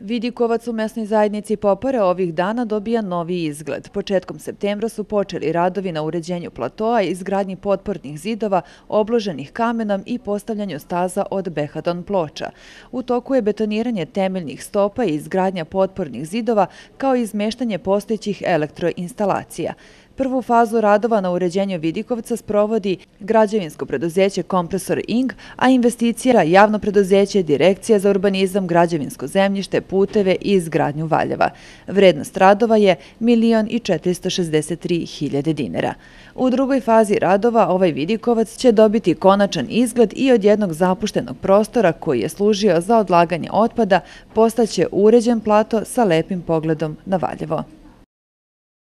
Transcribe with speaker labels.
Speaker 1: Vidikovac u mesnoj zajednici Popare ovih dana dobija novi izgled. Početkom septembra su počeli radovi na uređenju platoa, izgradnji potpornih zidova, obloženih kamenom i postavljanju staza od behaton ploča. U toku je betoniranje temeljnih stopa i izgradnja potpornih zidova, kao i izmeštanje postojećih elektroinstalacija. Prvu fazu radova na uređenju Vidikovca sprovodi građevinsko preduzeće Kompresor Ing, a investicija javno preduzeće Direkcija za urbanizam, građevinsko zemljište, puteve i izgradnju Valjeva. Vrednost radova je 1.463.000 dinara. U drugoj fazi radova ovaj Vidikovac će dobiti konačan izgled i od jednog zapuštenog prostora koji je služio za odlaganje otpada postaće uređen plato sa lepim pogledom na Valjevo.